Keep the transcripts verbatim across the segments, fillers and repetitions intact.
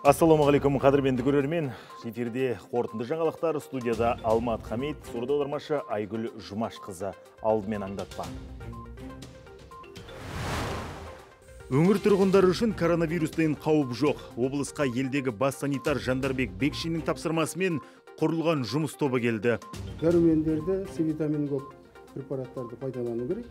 Ассаламағалейкум, қадірменді көрермен. Эфирде қорытынды жаңалықтар, студияда Алмат Хамид, сурда аудармашы Айгүл Жұмашқызы. Алдымен аңдатпа. Өңір тұрғындары үшін коронавирустен қауіп жоқ. Облысқа елдегі бас санитар Жандарбек Бекшиннің тапсырмасымен құрылған жұмыс тобы келді. Дәрумендерді, С витамин көп препараттарды пайдалану керек.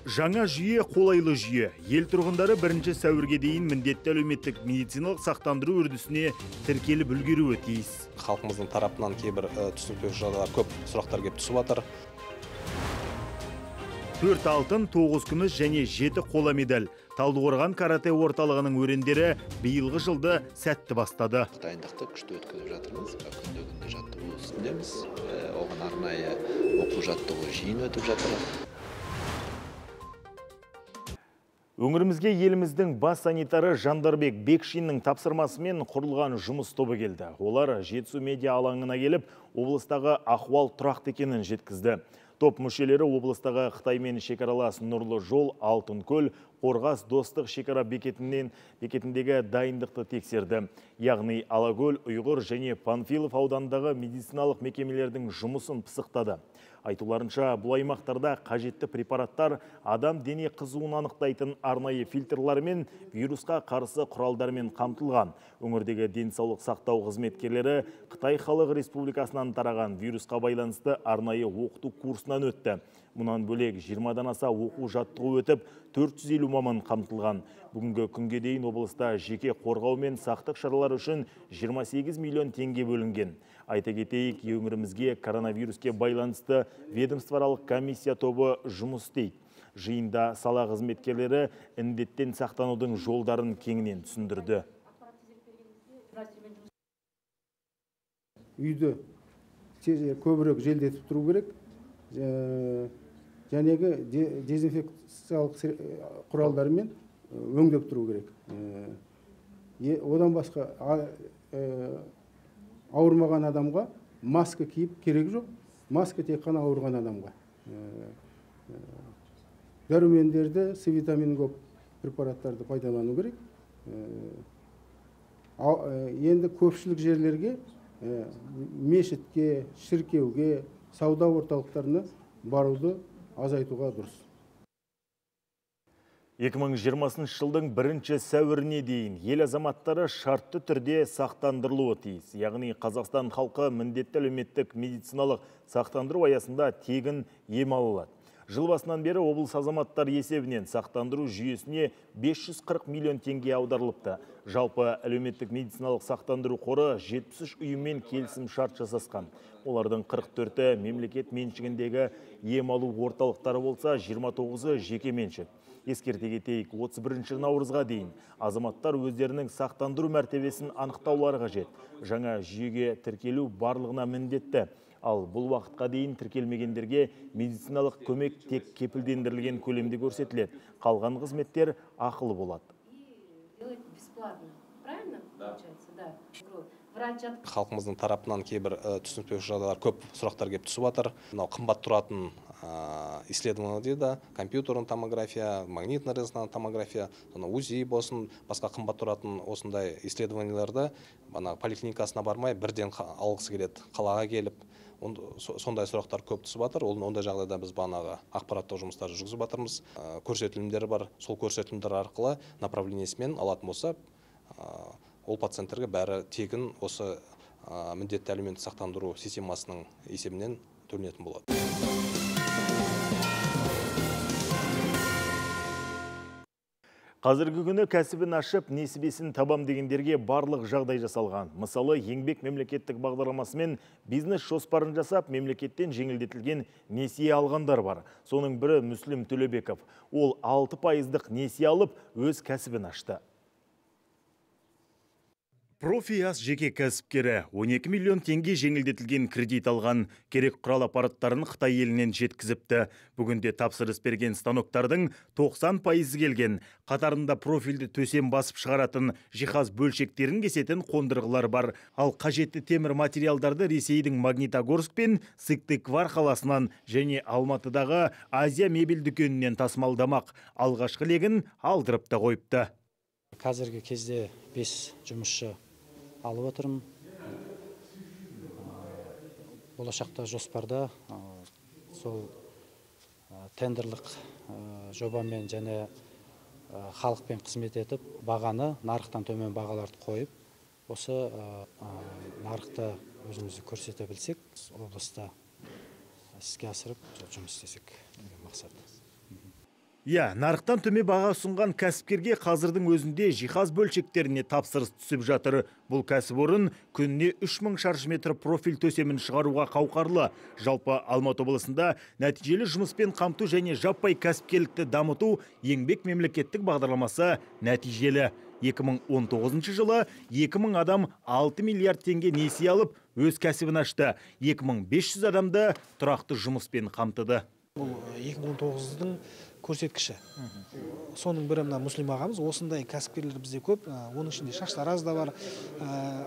Жаңа жүйе қолайлы жүйе. Ел тұрғындары бірінші сәуірге дейін міндетті әлеуметтік медициналық сақтандыру үрдісіне тіркеліп үлгеруі тиіс. Халқымыздың тарапынан кейбір түсінікпеушілік жағдайлар көп сұрақтар келіп түсіп жатыр. Төрт алтын, тоғыз күміс және жеті қола медаль. Талдықорған карате орталығының өрендері биылғы жылды сәтті бастады. Дайындықты күшті өткізіп жатырмыз. Күнде күнде жаттығу үстіндеміз. Оған арнайы оқу жаттығу жиын өтіп жатыр. Өңірімізге еліміздің бас санитары Жандарбек Бекшиннің тапсырмасымен құрылған жұмыс тобы келді. Олар Жетісу медиа алаңына келіп, облыстағы ахуал тұрақты екенін жеткізді. Топ мүшелері облыстағы Қытаймен шекаралас Нұрлы жол, Алтынкөл, Қорғас достық шекара бекетінен бекетіндегі дайындықты тексерді. Яғни Алакөл, Ұйғыр және Панфилов аудандағы медициналық мекемелердің жұмысын пысықтады. Айтуларынша, бұл аймақтарда қажетті препараттар адам дене қызуын анықтайтын арнайы фильтрлармен вирусқа қарсы құралдармен қамтылған. Өңірдегі денсаулық сақтау қызметкерлері Қытай Халық Республикасынан тараған вирусқа байланысты арнайы оқыту курсынан өтті. Мұнан бөлек жиырмадан аса оқу жаттығу өтіп, төрт жүз елу маман қамтылған. Бүгінгі күнге дейін облыста жеке қорғау мен сақтық шаралар үшін жиырма сегіз миллион теңге бөлінген. Айта кетейік, өңірімізге коронавируске байланысты ведомствоаралық комиссия тобы жұмыс істейді. Жиында сала қызметкерлері індеттен сақтанудың жолдарын кеңінен түсіндірді. Үйді көбірек желдетіп тұру керек. Жәнегі дезинфекциялық құралдарымен өңдеп тұру керек. Одан басқа ауырмаған адамға маска киіп керек жоқ. Маска тек қана ауырған адамға. Дәрумендерді, С витамин көп препараттарды пайдалану керек. Енді көпшілік жерлерге, мешітке, шіркеуге, сауда орталықтарына баруды азайтуға дұрыс. екі мың жиырмасыншы жылдың бірінші сәуіріне дейін ел азаматтары шартты түрде сақтандырылуы тиіс. Яғни Қазақстан халқы міндетті әлеуметтік медициналық сақтандыру аясында тегін ем алады. Жыл басынан бері облыс азаматтар есебінен сақтандыру жүйесіне бес жүз қырық миллион теңге аударылыпты. Жалпы әлеуметтік медициналық сақтандыру қоры жетпіс үш ұйыммен келісім шарт жасасқан. Олардың қырық төрті мемлекет меншігіндегі ем алу орталықтары болса, жиырма тоғызы жеке меншік. Ескерте кетейік, отыз бірінші наурызға дейін азаматтар өздерінің сақтандыру мәртебесін анықтаулары қажет. Жаңа жүйеге тіркелу барлығына міндетті. Ал бұл уақытқа дейін тіркелмегендерге медициналық көмек тек кепілдендірілген көлемде көрсетіледі. Қалған қызметтер ақылы болады. Халқымыздың тарапынан кейбір түсінікпеушілік жағдайлар көп сұрақтар келіп түсіп жатыр. Мынау қымбат тұратын исследование дейді, компьютерный томография, магнитный резонансный томография, УЗИ болсын, басқа қымбат тұратын осындай исследованияларды поликлиникасына бармай бірден алғысы келеді, қалаға келіп. Сондай сұрақтар көп түсіп жатыр. Ондай жағдайда біз бағанағы ақпараттық жұмыстарды жүргізіп жатырмыз. Көрсетілімдері бар, сол көрсетілімдер арқылы направлениесімен алатын болса, ол пациенттерге бәрі тегін осы міндетті әлеуметтік сақтандыру системасының есебінен төленетін болады. Қазіргі күні кәсібін ашып, несібесін табам дегендерге барлық жағдай жасалған. Мысалы, еңбек мемлекеттік бағдарламасымен бизнес жоспарын жасап, мемлекеттен жеңілдетілген несие алғандар бар. Соның бірі Мүслім Төлебеков. Ол алты пайыздық несие алып, өз кәсібін ашты. Профиас жеке кәсіпкері он екі миллион теңге жеңілдетілген кредит алған, керек құрал аппараттарын Қытай елінен жеткізіпті. Бүгінде тапсырыс берген станоктардың тоқсан пайызы келген. Қатарында профильді төсем басып шығаратын жиһаз бөлшектерін кесетін қондырғылар бар. Ал қажетті темір материалдарды Ресейдің Магнитогорск пен Сыктывкар қаласынан және Алматыдағы Азия мебель дүкенінен тасымалдамақ. Алғашқы легін алдырып та қойыпты. Қазіргі кезде бес жұмысшы алып отырмын. Болашақта жоспарда сол тендерлік жобамен және халықпен қызмет етіп, бағаны нарықтан төмен бағаларды қойып, осы нарықта өзімізді көрсете білсек, облыста іске асырып жұмыс істесек деген мақсат. Иә, нарықтан төмен баға ұсынған кәсіпкерге қазірдің өзінде жиһаз бөлшектеріне тапсырыс түсіп жатыр. Бұл кәсіпорын күніне үш мың шаршы метр профиль төсемін шығаруға қауқарлы. Жалпы Алматы облысында нәтижелі жұмыспен қамту және жаппай кәсіпкерлікті дамыту еңбек мемлекеттік бағдарламасы нәтижелі. екі мың он тоғызыншы жылы екі мың адам алты миллиард теңге несие алып, өз кәсібін ашты. екі мың бес жүз адамды тұрақты жұмыспен қамтыды. Бұл екі мың он тоғыздың көрсеткіші. Соның бірі мына Мүслим ағамыз, осындай кәсіпкерлер бізде көп. Оның ішінде шаштараз да бар,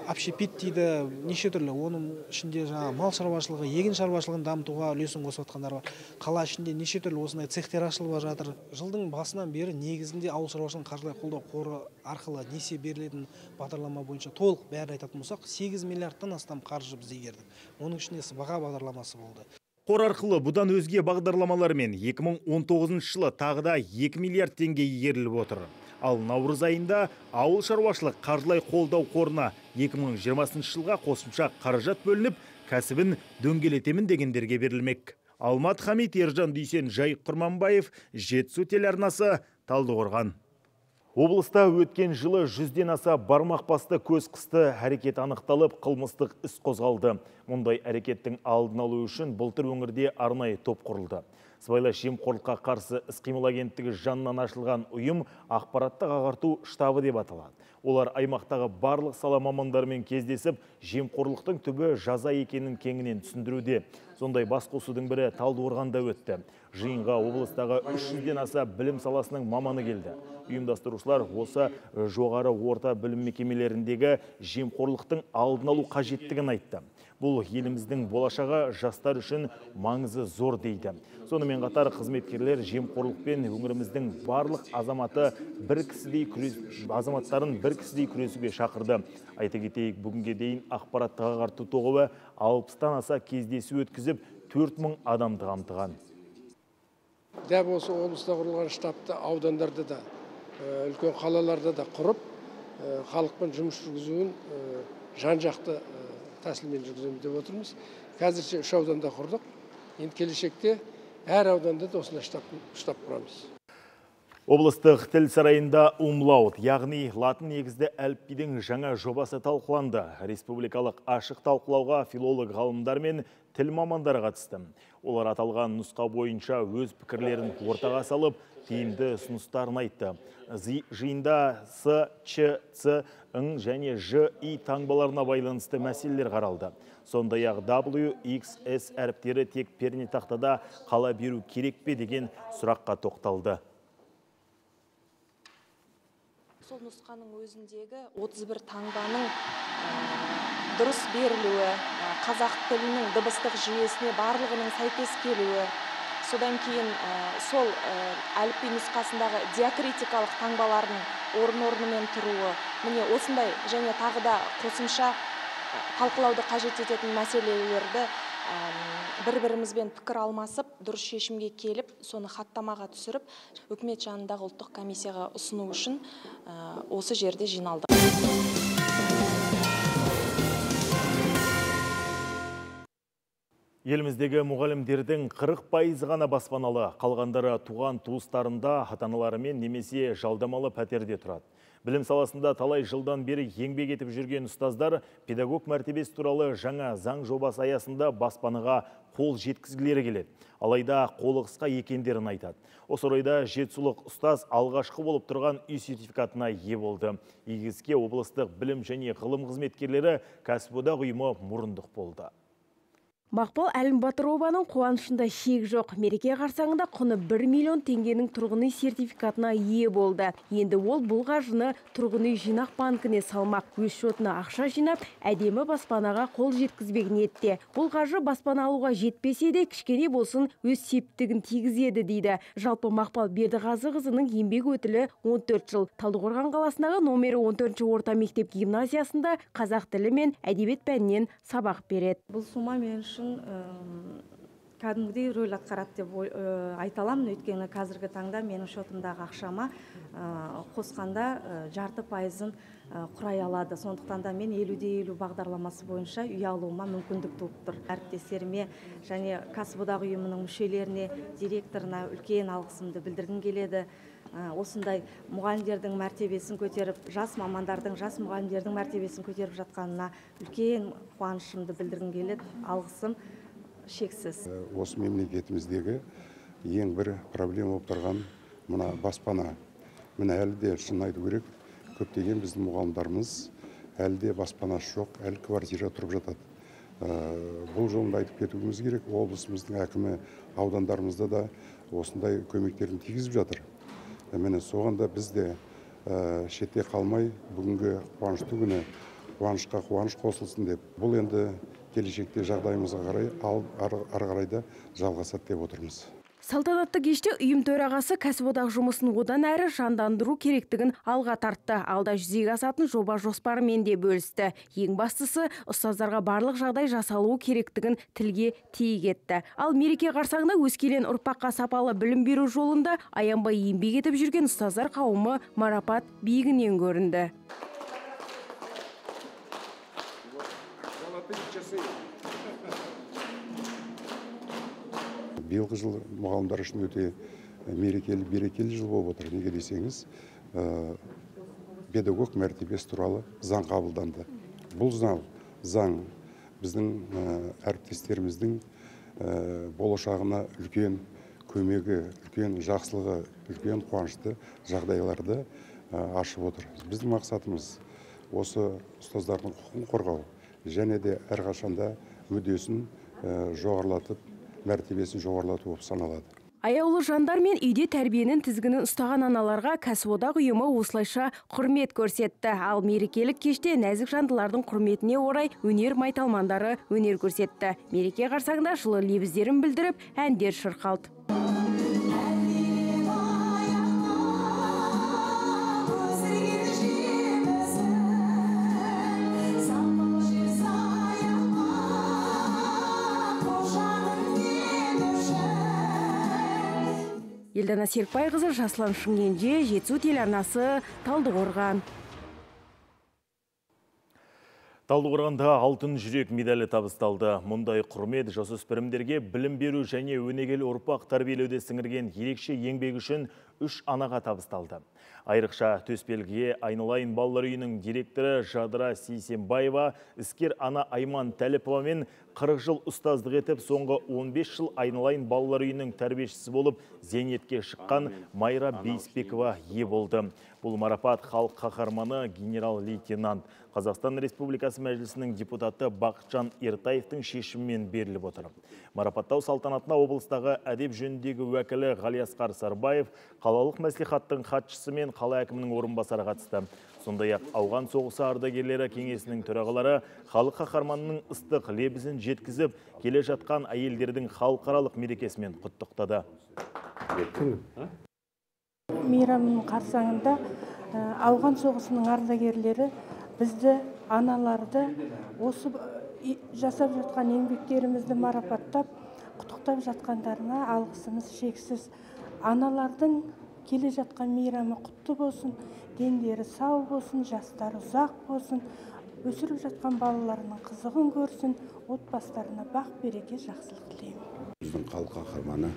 общепит дейді, неше түрлі. Оның ішінде жаңа мал шаруашылығы, егін шаруашылығын дамытуға үлесін қосып жатқандар бар. Қала ішінде неше түрлі осындай цехтер ашылып жатыр. Жылдың басынан бері негізінде ауыл шаруашылығын қаржылай қолдау қоры арқылы несие берілетін бағдарлама бойынша толық бәрін айтатын болсақ, сегіз миллиардтан астам қаржы біз игердік. Оның ішінде сыбаға бағдарламасы болды. Қор арқылы бұдан өзге бағдарламалармен екі мың он тоғызыншы жылы тағы да екі миллиард теңге игеріліп отыр. Ал наурыз айында ауыл шаруашылық қаржылай қолдау қорына екі мың жиырмасыншы жылға қосымша қаражат бөлініп, кәсібін дөңгелетемін дегендерге берілмек. Алмат Хамит, Ержан Дүйсен, Жайық Құрманбаев, Жетісу телеарнасы, Талдықорған. Облыста өткен жылы жүзден аса бармақ басты көз қысты әрекет анықталып, қылмыстық іс қозғалды. Мұндай әрекеттің алдын алу үшін былтыр өңірде арнайы топ құрылды. Сыбайлас жемқорлыққа қарсы іс-қимыл агенттігі жанынан ашылған ұйым ақпараттық ағарту штабы деп аталады. Олар аймақтағы барлық сала мамандарымен кездесіп, жемқорлықтың түбі жаза екенін кеңінен түсіндіруде. Сондай басқосудың бірі Талдықорғанда өтті. Жиынға облыстағы үш жүзден аса білім саласының маманы келді. Ұйымдастырушылар осы жоғары орта білім мекемелеріндегі жемқорлықтың алдын алу қажеттігін айтты. Бұл еліміздің болашағы жастар үшін маңызы зор дейді. Сонымен қатар қызметкерлер жемқорлықпен өңіріміздің барлық азаматы бір кісідей күрес, азаматтарын бір кісідей күресуге шақырды. Айта кетейік, бүгінге дейін ақпараттық ағарту тобы алпыстан аса кездесу өткізіп, төрт мың адамды қамтыған. Дәп осы облыста құрылған штабты аудандарда да, үлкен қалаларда да құрып, халықпен жұмыс жүргізуін жан-жақты тәсілмен жүргіземіз деп отырмыз. Қазірше үш ауданда құрдық. Енді келешекте әр ауданда да осындай штаб құрамыз. Облыстық тіл сарайында умлаут, яғни латын негізді әліпбидің жаңа жобасы талқыланды. Республикалық ашық талқылауға филолог ғалымдар мен тіл мамандары қатысты. Олар аталған нұсқа бойынша өз пікірлерін ортаға салып, тиімді ұсыныстарын айтты. Жиында С, Ч, Ц, Ң және Ж, И таңбаларына байланысты мәселелер қаралды. Сондай-ақ W, X, S әріптері тек пернетақтада қала беру керек пе деген сұраққа тоқталды. Сол нұсқаның өзіндегі отыз бір таңбаның дұрыс берілуі, қазақ тілінің дыбыстық жүйесіне барлығының сәйкес келуі, содан кейін сол әліпби нұсқасындағы диакритикалық таңбалардың орын-орнымен тұруы, міне осындай және тағы да қосымша талқылауды қажет ететін мәселелерді бір-бірімізбен пікір алмасып, дұрыс шешімге келіп, соны хаттамаға түсіріп, үкімет жанындағы ұлттық комиссияға ұсыну үшін осы жерде жиналды. Еліміздегі мұғалімдердің қырық пайызы ғана баспаналы, қалғандары туған туыстарында, ата-аналарымен немесе жалдамалы пәтерде тұрады. Білім саласында талай жылдан бері еңбек етіп жүрген ұстаздар педагог мәртебесі туралы жаңа заң жобасы аясында баспанаға қол жеткізгілері келеді. Алайда қолы қысқа екендерін айтады. Осы орайда жетісулық ұстаз алғашқы болып тұрған үй сертификатына ие болды. Игі іске облыстық білім және ғылым қызметкерлері кәсіподақ ұйымы мұрындық болды. Мақпал Әлімбатырованың қуанышында шек жоқ. Мереке қарсаңында құны бір миллион теңгенің тұрғын үй сертификатына ие болды. Енді ол бұл қаржыны тұрғын үй жинақ банкіне салмақ. Өз шотына ақша жинап, әдемі баспанаға қол жеткізбек ниетте. Бұл қаржы баспана алуға жетпесе де, кішкене болсын өз септігін тигізеді дейді. Жалпы Мақпал Бердіғазықызының еңбек өтілі он төрт жыл. Талдықорған қаласындағы номері он төртінші орта мектеп гимназиясында қазақ тілі мен әдебиет пәнінен сабақ береді. Бұл сума мен үшін кәдімгідей рөл атқарады деп айта аламын. Өйткені қазіргі таңда менің шотымдағы ақшама қосқанда жарты пайызын құрай алады. Сондықтан да мен елу де елу бағдарламасы бойынша үй алуыма мүмкіндік туып тұр. Әріптестеріме және кәсіподақ ұйымының мүшелеріне, директорына үлкен алғысымды білдіргім келеді. Осындай мұғалімдердің мәртебесін көтеріп, жас мамандардың, жас мұғалімдердің мәртебесін көтеріп жатқанына үлкен қуанышымды білдіргім келеді. Алғысым шексіз. Осы мемлекетіміздегі ең бір проблема болып тұрған мына баспана. Міне әлі де шын айту керек, көптеген біздің мұғалімдарымыз әлі де баспанасы жоқ, әлі квартира тұрып жатады. Бұл жолында айтып кетуіміз керек, облысымыздың әкімі аудандарымызда да осындай көмектерін тигізіп жатыр. Міне соғанда біз де шетте қалмай, бүгінгі қуанышты күні қуанышқа қуаныш қосылсын деп, бұл енді келешекте жағдайымызға қарай, ары қарайда жалғасады деп отырмыз. Салтанатты кеште ұйым төрағасы кәсіподақ жұмысын одан әрі жандандыру керектігін алға тартты. Алда жүзеге асатын жоба жоспарымен де бөлісті. Ең бастысы, ұстаздарға барлық жағдай жасалуы керектігін тілге тиек етті. Ал мереке қарсаңында өскелең ұрпаққа сапалы білім беру жолында аянбай еңбек етіп жүрген ұстаздар қауымы марапат биігінен көрінді. Биылғы жыл мұғалімдар үшін өте мерекелі, берекелі жыл болып отыр. Неге десеңіз, педагог мәртебесі туралы заң қабылданды. Бұл заң, заң біздің әріптестеріміздің болашағына үлкен көмегі, үлкен жақсылығы, үлкен қуанышты жағдайларды ашып отыр. Біздің мақсатымыз осы ұстаздардың құқығын қорғау және де әрқашанда мүддесін жоғарылатып, мәртебесін жоғарылату болып саналады. Аяулы жандар мен үйде тәрбиенің тізгінін ұстаған аналарға кәсіподақ ұйымы осылайша құрмет көрсетті. Ал мерекелік кеште нәзік жандылардың құрметіне орай өнер майталмандары өнер көрсетті. Мереке қарсаңында жылы лебіздерін білдіріп, әндер шырқалды. Елдана Серікбайқызы, Жаслан Шымкенже, Жетісу телеарнасы, Талдықорған. Талдықорғанда алтын жүрек медалі табысталды. Мұндай құрмет жасөспірімдерге білім беру және өнегелі ұрпақ тәрбиелеуде сіңірген ерекше еңбек үшін үш анаға табысталды. Айрықша төсбелгіге айналайын балалар үйінің директоры Жадыра Сейсенбаева, іскер ана Айман Тәліпова мен қырық жыл ұстаздық етіп, соңғы он бес жыл айналайын балалар үйінің тәрбиешісі болып зейнетке шыққан Майра Бейсбекова ие болды. Бұл марапат халық қаһарманы генерал-лейтенант Қазақстан Республикасы Мәжілісінің депутаты Бақытжан Ертаевтың шешімімен беріліп отыр. Марапаттау салтанатына облыстағы әдеп жөніндегі уәкілі Ғалиасқар Сарбаев, қалалық мәслихаттың хатшысы мен қала әкімінің орынбасары қатысты. Сондай-ақ ауған соғысы ардагерлері кеңесінің төрағалары халық қаһарманының ыстық лебізін жеткізіп, келе жатқан әйелдердің халықаралық мерекесімен құттықтады. Мейрамның қарсаңында ауған соғысының ардагерлері бізді, аналарды, осы жасап жатқан еңбектерімізді марапаттап, құттықтап жатқандарына алғысымыз шексіз. Аналардың келе жатқан мейрамы құтты болсын, дендері сау болсын, жастары ұзақ болсын, өсіріп жатқан балаларының қызығын көрсін, отбасыларына бақ береке жақсылық тілеймін. Біздің халық қаһарманы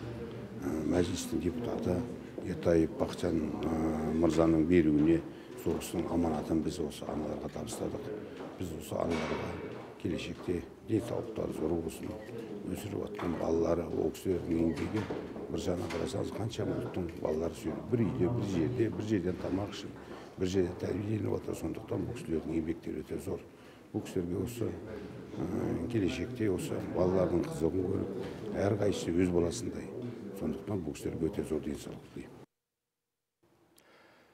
мәжілістің депутаты Ертаев Бақытжан мырзаның беруіне соғыстың аманатын біз осы аналарға табыстадық. Біз осы аналарға келешекте денсаулықтары зор болсын, өсіріп жатқан балалары, ол кісілердің еңбегі бір жағынан қарасаңыз қанша ұлттың балалары сөйлеп, бір үйде, бір жерде, бір жерден тамақ ішіп, бір жерде тәрбиеленіп жатыр. Сондықтан бұл кісілердің еңбектері өте зор. Бұл кісілерге осы келешекте осы балалардың қызығын көріп, әрқайсысы өз баласындай. Сондықтан бұл кісілерге өте зор денсаулық тілеймін.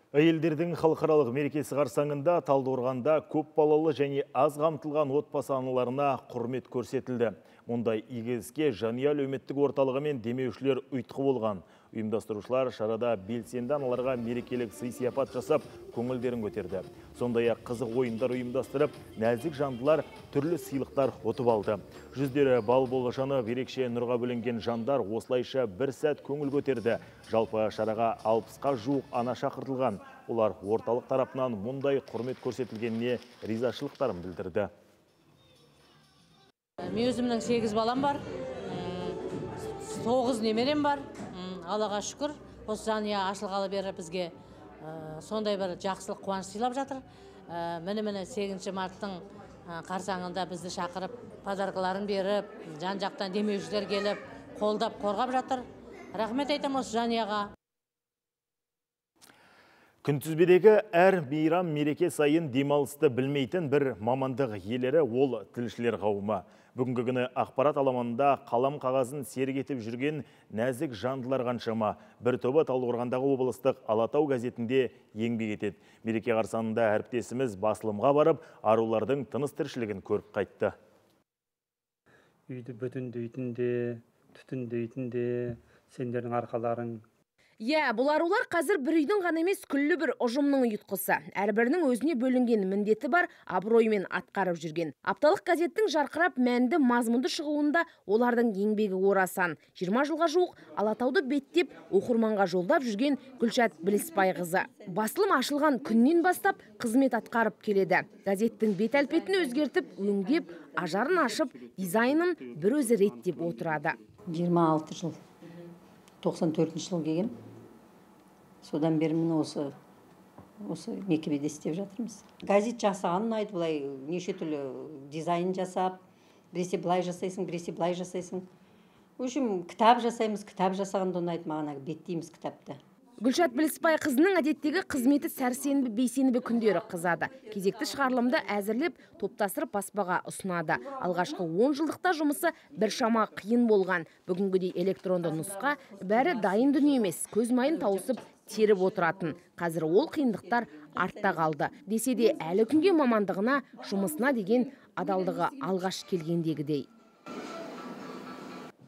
Әйелдердің халықаралық мерекесі қарсаңында Талдықорғанда көп балалы және аз қамтылған отбасы аналарына құрмет көрсетілді. Мұндай игі іске жанұя әлеуметтік орталығы мен демеушілер ұйытқы болған. Ұйымдастырушылар шарада белсенді аналарға мерекелік сый-сияпат жасап, көңілдерін көтерді. Сондай-ақ қызық ойындар ұйымдастырып, нәзік жандылар түрлі сыйлықтар ұтып алды. Жүздері бал болашаны ерекше нұрға бөленген жандар осылайша бір сәт көңіл көтерді. Жалпы шараға алпысқа жуық ана шақыртылған. Олар орталық тарапынан мұндай құрмет көрсетілгеніне ризашылықтарын білдірді. Мен өзімнің сегіз балам бар, тоғыз немерем бар. Аллаға шүкір, осы жанұя ашылғалы бері бізге сондай бір жақсылық қуаныш сыйлап жатыр. Міне-міне сегізінші марттың қарсаңында бізді шақырып, подаркаларын беріп, жан-жақтан демеушілер келіп, қолдап, қорғап жатыр. Рахмет айтам осы жанұяға. Күнтізбедегі әр мейрам мереке сайын демалысты білмейтін бір мамандық иелері ол тілшілер қауымы. Бүгінгі күні ақпарат аламанында қалам қағазын серік етіп жүрген нәзік жандылар қаншама. Бір тобы Талдықорғандағы облыстық Алатау газетінде еңбек етеді. Мереке қарсаңында әріптесіміз басылымға барып, арулардың тыныс тіршілігін көріп қайтты. Үйді бүтіндейтінде, түтіндейтінде, сендердің арқаларың. Иә, бұл арулар қазір бір үйдің ғана емес күллі бір ұжымның ұйытқысы. Әрбірінің өзіне бөлінген міндеті бар, абыроймен атқарып жүрген. Апталық газеттің жарқырап мәнді мазмұнды шығуында олардың еңбегі орасан. жиырма жылға жуық Алатауды беттеп оқырманға жолдап жүрген Гүлшат Біліспайқызы. Басылым ашылған күннен бастап қызмет атқарып келеді. Газеттің бет әлпетін өзгертіп, өңдеп, ажарын ашып, дизайнын бір өзі реттеп отырады. жиырма алты жыл, тоқсан төртінші жыл келген. Содан бері міне осы осы мекемеде істеп жатырмыз. Газет жасағанын айтып, былай неше түрлі дизайн жасап, біресе былай жасайсың, біресе былай жасайсың. В общем, кітап жасаймыз, кітап жасағанды ұнайды маған, беттейміз кітапты. Гүлшат Біліспайқызының әдеттегі қызметі сәрсенбі бейсенбі күндері қызады. Кезекті шығарылымды әзірлеп, топтастырып баспаға ұсынады. Алғашқы он жылдықта жұмысы бір шама қиын болған. Бүгінгідей электронды нұсқа бәрі дайын дүние емес, көз майын тауысып теріп отыратын. Қазір ол қиындықтар артта қалды. Десе де әлі күнге мамандығына, жұмысына деген адалдығы алғаш келгендегідей.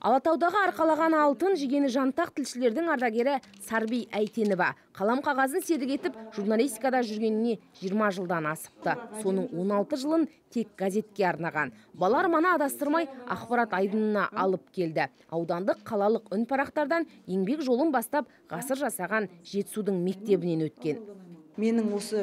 Алатаудағы арқалаған алтын жегені жантақ тілшілердің ардагері Сарби Әйтенова. Қалам қағазын серік етіп, журналистикада жүргеніне жиырма жылдан асыпты. Соның он алты жылын тек газетке арнаған. Бала арманы адастырмай ақпарат айдынына алып келді. Аудандық қалалық үн парақтардан еңбек жолын бастап ғасыр жасаған Жетісудың мектебінен өткен. Менің осы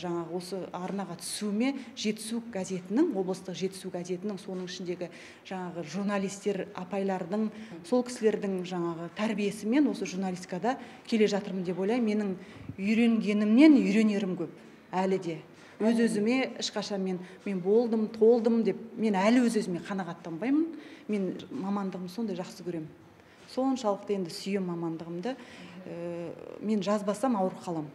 жаңағы осы арнаға түсуіме Жетісу газетінің, облыстық Жетісу газетінің соның ішіндегі жаңағы журналистер апайлардың, сол кісілердің жаңағы тәрбиесімен осы журналистикада келе жатырмын деп ойлаймын. Менің үйренгенімнен үйренерім көп әлі де. Өз-өзіме ешқашан мен мен болдым, толдым деп мен әлі өз-өзіме қанағаттанбаймын. Мен мамандығымды сондай жақсы көремін. Соншалықты енді сүйем мамандығымды. Мен жазбасам ауырып қаламын.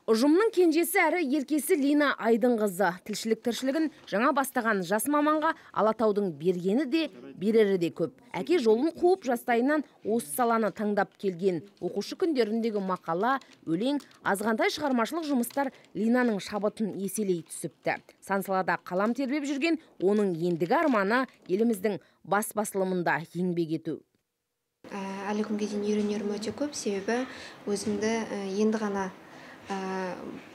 Ұжымның кенжесі әрі еркесі Лина Айдынқызы. Тілшілік тіршілігін жаңа бастаған жас маманға Алатаудың бергені де, берері де көп. Әке жолын қуып жастайынан осы саланы таңдап келген. Оқушы күндеріндегі мақала, өлең, азғантай шығармашылық жұмыстар Линаның шабытын еселей түсіпті. Сан салада қалам тербеп жүрген оның ендігі арманы еліміздің бас басылымында еңбек ету. Әлі күнге дейін үйренерім өте көп, себебі өзімді енді ғана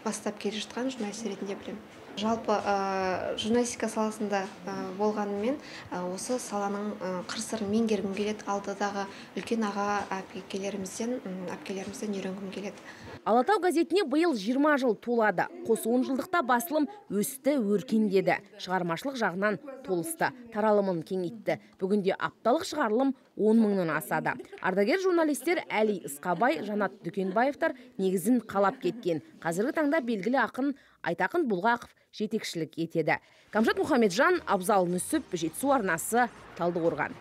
бастап келе жатқан журналист ретінде білемін. Жалпы журналистика саласында болғанымен осы саланың қыр-сырын меңгергім келеді. Алдыдағы үлкен аға әпкелерімізден, әпкелерімізден үйренгім келеді. Алатау газетіне биыл жиырма жыл толады. Қос он жылдықта басылым өсті, өркендеді. Шығармашылық жағынан толысты, таралымын кеңейтті. Бүгінде апталық шығарылым он мыңнан асады. Ардагер журналистер Әли Ысқабай, Жанат Дүкенбаевтар негізін қалап кеткен. Қазіргі таңда белгілі ақын Айтақын Бұлғақов жетекшілік етеді. Камжат Мұхамеджан, Абзал Нүсіп, Жетісу арнасы, Талдықорған.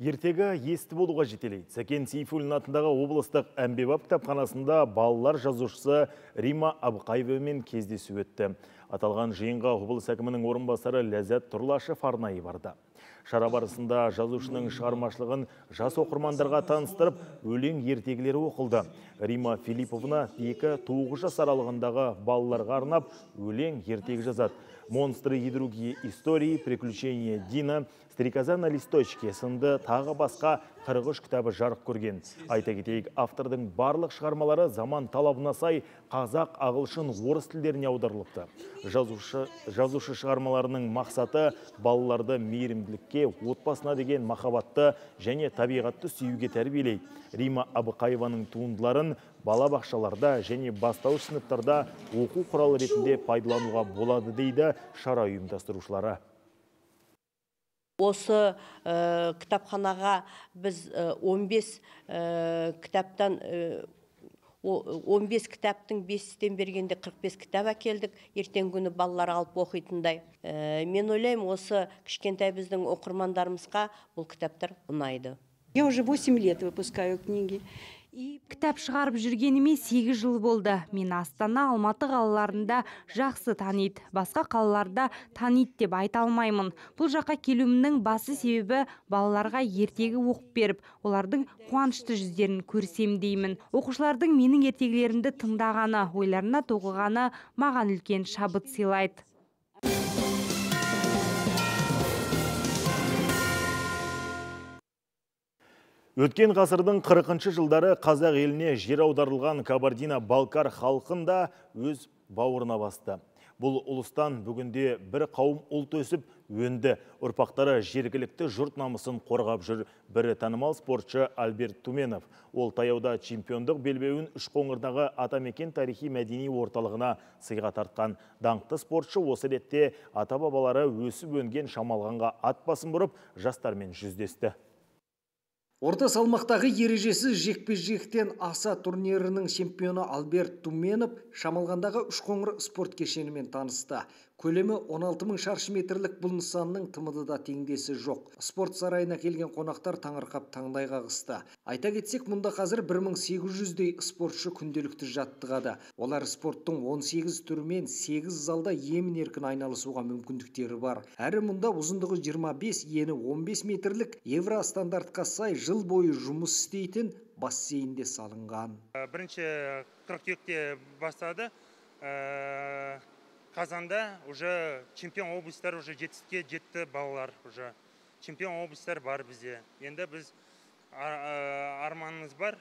Ертегі есті болуға жетелейді. Сәкен Сейфуллин атындағы облыстық әмбебап кітапханасында балалар жазушысы Рима Абықаевамен кездесу өтті. Аталған жиынға облыс әкімінің орынбасары Ләззат Тұрлашев арнайы барды. Шара барысында жазушының шығармашылығын жас оқырмандарға таныстырып, өлең ертегілері оқылды. Рима Филипповна екі тоғыз жас аралығындағы балаларға арнап өлең ертегі жазады. «Монстры и другие истории», «Приключения Дина», «Стрекоза на листочке» сынды тағы басқа қырық үш кітабы жарық көрген. Айта кетейік, автордың барлық шығармалары заман талабына сай қазақ, ағылшын, орыс тілдеріне аударылыпты. Жазушы, жазушы шығармаларының мақсаты балаларды мейірімділікке, отбасына деген махаббатты және табиғатты сүюге тәрбиелейді. Рима Абықаеваның туындыларын балабақшаларда және бастауыш сыныптарда оқу құралы ретінде пайдалануға болады дейді шара ұйымдастырушылары. Осы ә, кітапханаға біз он бес ә, кітаптан ә, он бес кітаптың бестен бергенде қырық бес кітап әкелдік. Ертең күні балалар алып оқитындай. Ә, мен ойлаймын, осы кішкентай біздің оқырмандарымызға бұл кітаптар ұнайды. Я уже восемь лет выпускаю книги. Кітап шығарып жүргеніме сегіз жыл болды. Мен Астана, Алматы қалаларында жақсы таниды. Басқа қалаларда таниды деп айта алмаймын. Бұл жаққа келуімнің басы себебі балаларға ертегі оқып беріп, олардың қуанышты жүздерін көрсем деймін. Оқушылардың менің ертегілерімді тыңдағаны, ойларына тоғығаны маған үлкен шабыт сыйлайды. Өткен ғасырдың қырқыншы жылдары қазақ еліне жер аударылған Кабардино-Балкар халқын да өз бауырына басты. Бұл ұлыстан бүгінде бір қауым ұлт өсіп өнді. Ұрпақтары жергілікті жұрт намысын қорғап жүр. Бірі танымал спортшы Альберт Туменов. Ол таяуда чемпиондық белбеуін Үшқоңырдағы Атамекен тарихи мәдени орталығына сыйға тартқан. Даңқты спортшы осы ретте ата-бабалары өсіп өнген Шамалғанға ат басын бұрып, жастармен жүздесті. Орта салмақтағы ережесіз жекпе-жектен аса турнирінің чемпионы Альберт Туменов Шамалғандағы Үшқоңыр спорт кешенімен танысты. Көлемі он алты мың шаршы метрлік бұл нысанның тымыдыда теңдесі жоқ. Спорт сарайына келген қонақтар таңырқап таңдай қағысты. Айта кетсек, мұнда қазір бір мың сегіз жүздей спортшы күнделікті жаттығады. Олар спорттың он сегіз түрімен сегіз залда емін-еркін айналысуға мүмкіндіктері бар. Әрі мұнда ұзындығы жиырма бес, ені он бес метрлік евро стандартқа сай жыл бойы жұмыс істейтін бассейнде салынған. Бірінші қыркүйекте бастады. Қазанда уже чемпион облыстар уже жетістікке жетті балалар. Уже чемпион облыстар бар бізде. Енді біз арманымыз бар,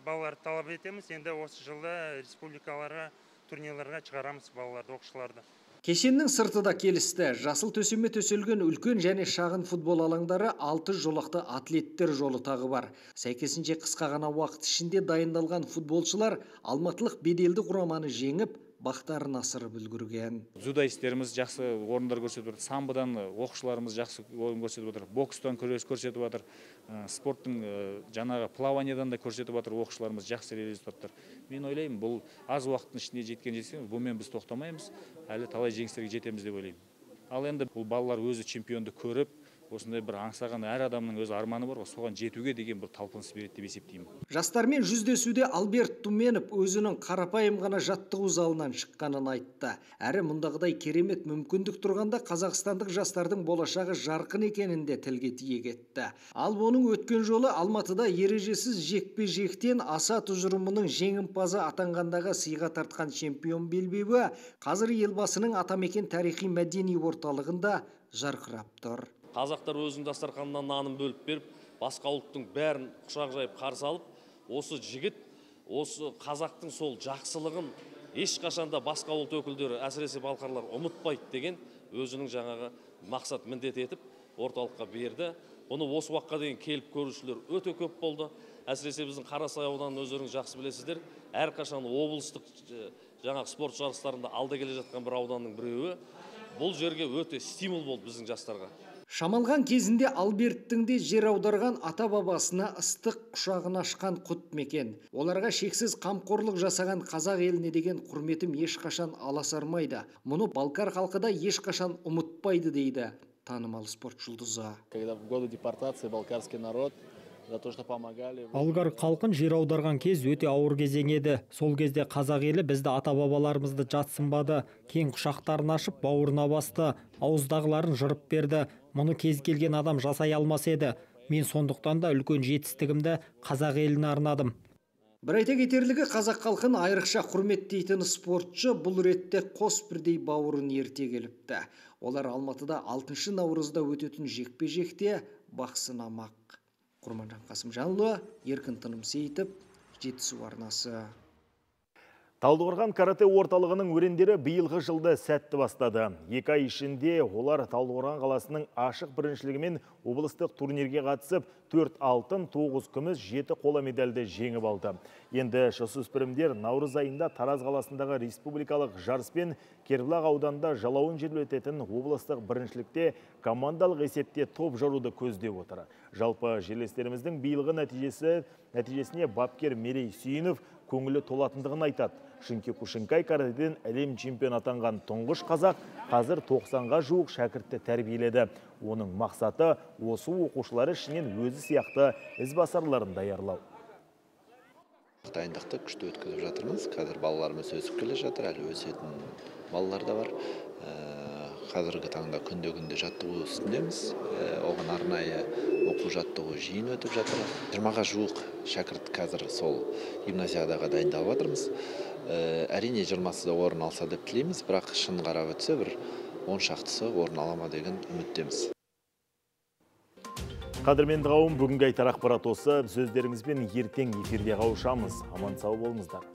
балалар талап етеміз. Енді осы жылда республикаларға, турнирларға шығарамыз балаларды, оқушыларды. Кешеннің сырты да келісті. Жасыл төсеме төселген үлкен және шағын футбол алаңдары алты жолақты атлеттер жолы тағы бар. Сәйкесінше қысқа ғана уақыт ішінде дайындалған футболшылар алматылық беделді құраманы жеңіп, бақтарын асырып үлгерген. Дзюдоистеріміз жақсы орындар көрсетіп отыр, самбодан оқушыларымыз жақсы ойын көрсетіп отыр, бокстан күрес көрсетіп отыр, спорттың жаңағы плаваниядан да көрсетіп отыр, оқушыларымыз жақсы результаттар. Мен ойлаймын, бұл аз уақыттың ішінде жеткен жеткен, бұмен біз тоқтамаймыз, әлі талай жеңістерге жетеміз деп ойлаймын. Ал енді бұл балалар өзі чемпионды көріп, осындай бір аңсаған әр адамның өз арманы бар, соған жетуге деген бір талпыныс береді деп есептеймін. Жастармен жүздесуде Альберт Туменов өзінің қарапайым ғана жаттығу залынан шыққанын айтты. Әрі мұндағыдай керемет мүмкіндік тұрғанда қазақстандық жастардың болашағы жарқын екенін де тілге тиек етті. Ал оның өткен жолы Алматыда ережесіз жекпе-жектен аса тұжырымының жеңімпазы атанғандағы сыйға тартқан чемпион белбеуі қазір елбасының Атамекен тарихи мәдени орталығында жарқырап тұр. Қазақтар өзінің дастарханынан нанын бөліп беріп, басқа ұлттың бәрін құшақ жайып қарсы алып, осы жігіт, осы қазақтың сол жақсылығын ешқашанда басқа ұлт өкілдері, әсіресе балқарлар ұмытпайды деген өзінің жаңағы мақсат міндет етіп орталыққа берді. Бұны осы уақытқа дейін келіп көрушілер өте көп болды. Әсіресе біздің Қарасай ауданын өздеріңіз жақсы білесіздер. Әрқашан облыстық жаңағы спорт жарыстарында алда келе жатқан бір ауданның біреуі. Бұл жерге өте стимул болды біздің жастарға. Шамалған кезінде Альберттің де жер аударған ата-бабасына ыстық құшағын ашқан құт мекен. Оларға шексіз қамқорлық жасаған қазақ еліне деген құрметім ешқашан аласармайды. Мұны Балкар халқы да ешқашан ұмытпайды дейді танымал спорт жұлдызы. Когда в годы депортации балкарский народ за то, что помогали. Болгар халқын жер аударған кез өте ауыр кезең еді. Сол кезде қазақ елі бізді ата-бабаларымызды жатсынбады. Кең құшақтарын ашып, бауырына басты, ауыздағыларын жырып берді. Мұны кез келген адам жасай алмас еді. Мен сондықтан да үлкен жетістігімді қазақ еліне арнадым. Бір айта кетерлігі, қазақ халқын айрықша құрметтейтін спортшы бұл ретте қос бірдей бауырын ерте келіпті. Олар Алматыда алтыншы наурызда өтетін жекпе-жекте бақ сынамақ. Құрманжан Қасымжанұлы, Еркін Тынымсейітов, Жетісу арнасы. Талдықорған карате орталығының өрендері биылғы жылды сәтті бастады. Екі ай ішінде олар Талдықорған қаласының ашық біріншілігімен облыстық турнирге қатысып, төрт алтын, тоғыз күміс, жеті қола медальді жеңіп алды. Енді жасөспірімдер наурыз айында Тараз қаласындағы республикалық жарыспен Кербұлақ ауданында жалауын жел өтетін облыстық біріншілікте командалық есепте топ жаруды көздеп отыр. Жалпы жерлестеріміздің биылғы нәтижесі нәтижесіне бапкер Мерей Сүйінов көңілі толатындығын айтады. Шинкекушинкай каратеден әлем чемпион атанған тұңғыш қазақ қазір тоқсанға жуық шәкіртті тәрбиеледі. Оның мақсаты осы оқушылары ішінен өзі сияқты ізбасарларын даярлау. Дайындықты күшті өткізіп жатырмыз. Қазір балаларымыз өсіп келе жатыр, әлі өсетін балалар да бар. Қазіргі таңда күнде-күнде жаттығу үстіндеміз. Оған арнайы оқу жаттығу жиын өтіп жатыр. жиырмаға жуық шәкірт қазір сол гимназиядаға дайындалып жатырмыз. Әрине жиырмасы да орын алса деп тілейміз, бірақ шын қарап өтсе бір он шақтысы орын алама деген үміттеміз. Қадірменді қауым, бүгінгі айтар ақпарат осы. Сөздеріңізбен ертең эфирде қауышамыз. Аман сау болыңыздар.